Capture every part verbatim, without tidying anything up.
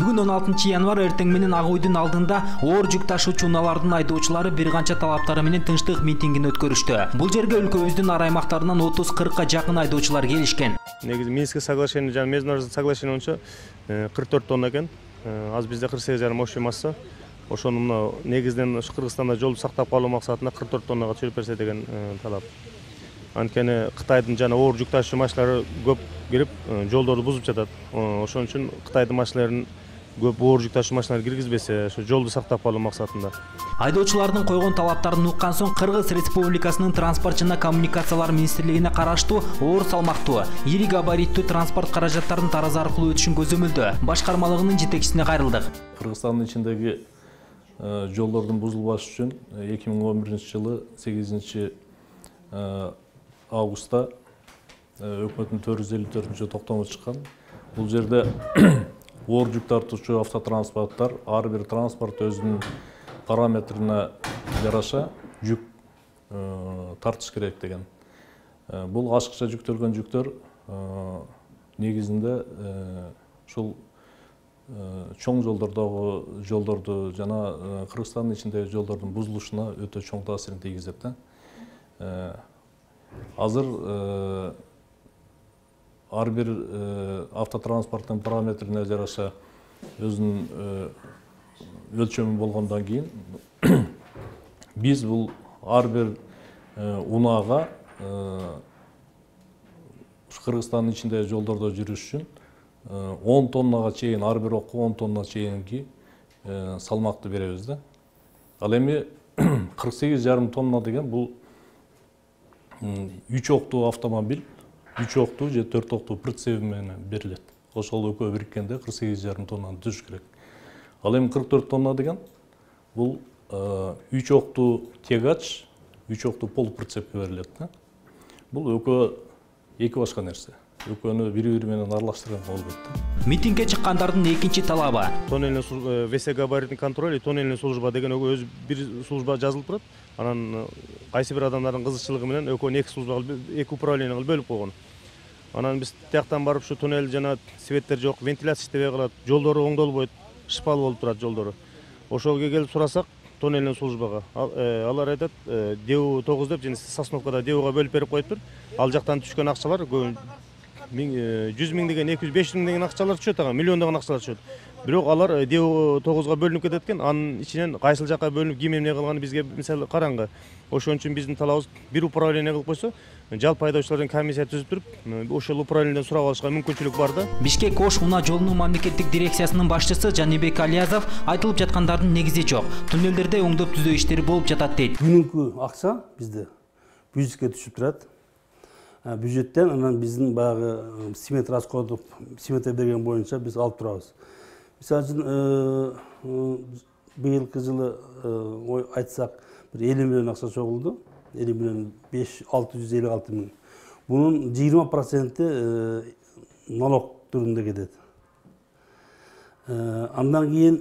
Бүгүн он алтынчы январь эртең менен Ак Үйдүн алдында оор жүк ташуучу унаалардын айдоочулары бир канча талаптары менен тынчтык митингин өткөрүштү. Бул жерге өлкөбүздүн ар аймактарынан отуз кыркка жакын айдоочулар келишкен. Негизи Минское соглашение жана международный соглашение боюнча кырк төрт тонна экен. Азыр бизде кырк сегиз жарым общий масса. Ошону мына негизинен Кыргызстанда жолду сактап калуу максатында кырк төрт тоннага түшүрүп берсе деген талап. Анткени Кытайдын жана оор жүк ташуучу машиналары көп кирип, жолдорду бузуп жатат. Ошон үчүн Кытайдын машиналарын көп оор жүк ташуучу машиналар киргизбесе, ошо жолду сактап калуу максатында. Айдоочулардын койгон талаптарын уккан соң Кыргыз Республикасынын транспорт жана коммуникациялар министрлигине караштуу оор салмактуу, ири габариттүү транспорт каражаттарын тараза аркылуу өтүшүн көзөмөлдөө башкармалыгынын жетекчисине кайрылдык. Кыргызстандын ичиндеги жолдордун бузулбашы үчүн эки миң он биринчи жылы сегизинчи августта өкмөттүн төрт жүз элүү төртүнчү токтому чыккан. Бул жерде оор жүк тартуучу автотранспорттар ар бир транспорт өзүнүн параметрине жараша жүк тартыш керек деген. Бул ашыкча жүктөлгөн жүктөр негизинде ушул чоң жолдордогу жолдорду жана Кыргызстандын ичиндеги жолдордун бузулушуна өтө чоң таасирин тийгизет да. Азыр ар бир автотранспорттун параметрине жараша өзүнүн өлчөмү болгондон кийин биз бул ар бир унаага Кыргызстандын ичиндеги жолдордо жүрүш үчүн он тоннага чейин, ар бир окко он тонна чейинки салмакты беребиз да. Ал эми кырк сегиз жарым тонна деген бул үч октуу автомобиль, үч октуу же төрт октуу прицеп менен берилет. Ошол экөө бириккенде кырк сегиз жарым тоннаны түзүш керек. Ал эми кырк төрт тонна деген бул үч октуу тегач, үч октуу полуприцепке берилет да. Бул экөө эки башка нерсе. Экөөнү бири-бири менен аралаштырган болбойт да. Митингге чыккандардын экинчи талабы тоннельный весе габаритный контроль, тоннельный служба деген өзү бир служба жазылып турат. Анан кайсы бир адамдардын кызыкчылыгы менен экөөнү эки службага, эки управление кылып бөлүп койгон. Анан биз тияктан барып ушу туннель жана светтер жок, вентиляция иштебей калат, жолдору оңдолбойт, шпал болуп турат жолдору. Ошого келип сурасак, тоннельный службага алар айтат, ДЭУ тогуз деп, жана Сосновкада ДЭУга бөлүп берип коюптур. Ал жактан түшкөн акчалар жүз миң деген, эки жүз, беш жүз миң деген акчалар түшөт, ага миллиондогон акчалар түшөт. Бирок алар ДЭУ тогузга бөлүнүп кетет экен, анын ичинен кайсыл жакка бөлүнүп ким эмне кылганы бизге мисалы караңгы. Ошон үчүн биздин талабыбыз бир управление кылып койсо, жалпы айдоочулардын комиссия түзүп туруп, ошол управлениеден сурап алышка мүмкүнчүлүк бар да. Бишкек Ош унаа жолунун мамлекеттик дирекциясынын башчысы Жанибек Алиязов айтылып жаткандардын негизи жок. Туннелдерде оңдоп түзөө иштери болуп жатат дейт. Бүгүнкү акча бизде бюджетке түшүп турат. Бюджеттен анан биздин баягы смет расходу, смета берген боюнча биз алып турабыз. Мисалы үчүн быйылкы жылы айтсак бир элүү миллион акча чогулду. элүү миллион алты жүз элүү алты миң. Бунун жыйырма проценти налог түрүндө кетет. Андан кийин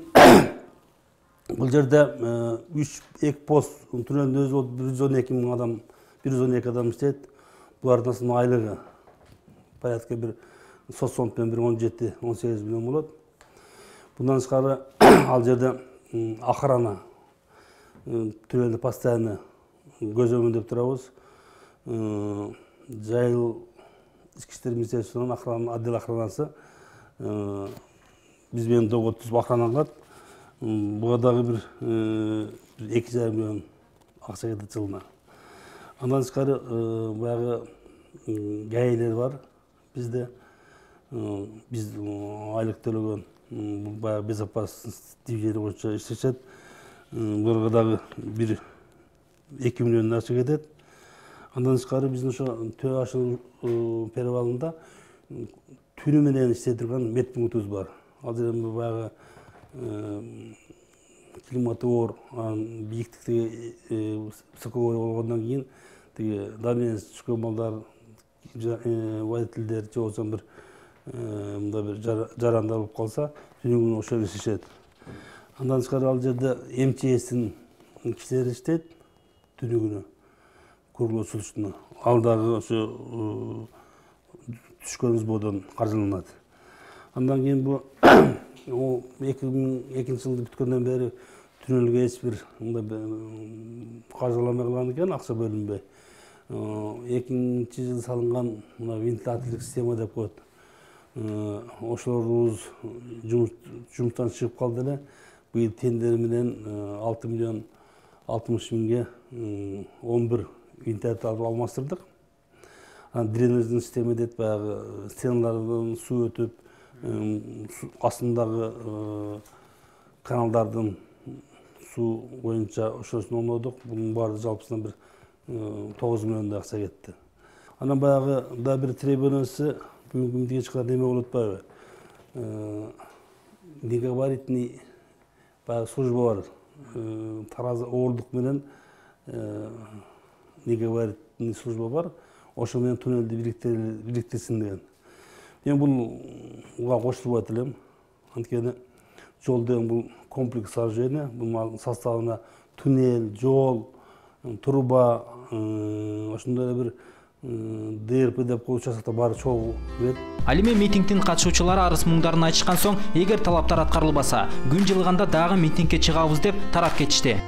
бул жерде үч эки пост туннелдин өзү бир жүз он эки миң адам, бир жүз он эки адам иштейт. Булардын айлыгы порядка бир соцфонддон бир он жети он сегиз миллион болот. Bundan тышкары ал жерде охрана туннелди постоянно көзөмөлдөп турабыз. Жайыл ички иштер министрлигинин охрана отдел охранасы биз менен догуу түзүп охрана кылат. Буга дагы бир эки жарым миллион акча кетет жылына. Андан тышкары баягы гаилер бар бизде. Биз айлык төлөгөн баягы безопасность движения боюнча иштешет. Буларга дагы бир эки миллион акча кетет. Андан тышкары биздин ошо Төө Ашыл перевалында түнү менен иштей турган медпунктубуз бар. Ал жерде баягы климаты оор, бийиктикти высокогорье болгондон кийин тиги давление түшкөн балдар, водительдер же болбосо бир мындай бир жарандар болуп калса, түнү күнү ошо иштешет. Андан тышкары ал жерде эм че эстин кишилери иштейт түнү күнү круглосуточно. Ал дагы ошо түшкөн сбордон каржыланат. Андан кийин бул эки миң экинчи жылды бүткөндөн бери түнөлгө эч бир мындай каржыламай калган экен, акча бөлүнбөй. Экинчи жылы салынган мына вентиляторлук система деп коет. Ошолорубуз жумуштан чыгып калды эле. Быйыл тендер менен алты миллион алтымыш миңге он бир вентилятор алмаштырдык. Дренажный система дейт, баягы стеналардан суу өтүп, астындагы каналдардын суу боюнча ошосун оңдодук. Бунун баары жалпысынан бир тогуз миллиондай акча кетти. Анан баягы да бир требованиясы бүгүнкү күндө кечке неме болуп атпайбы? Негабаритный баягы служба бар. Таразы оорлук менен негабаритный служба бар. Ошо менен туннелди бириктирсин деген. Мен буга кошулбайт элем. Анткени жол деген бул комплекс сооружение. Бунун составына туннель, жол, труба, ошондой эле бир ДРП деп коюп участокто баары чогуу кирет. Ал эми митингдин катышуучулары арыз муңдарын айтышкан соң, эгер талаптар аткарылбаса, күн жылыганда дагы митингге чыгабыз деп тарап кетишти.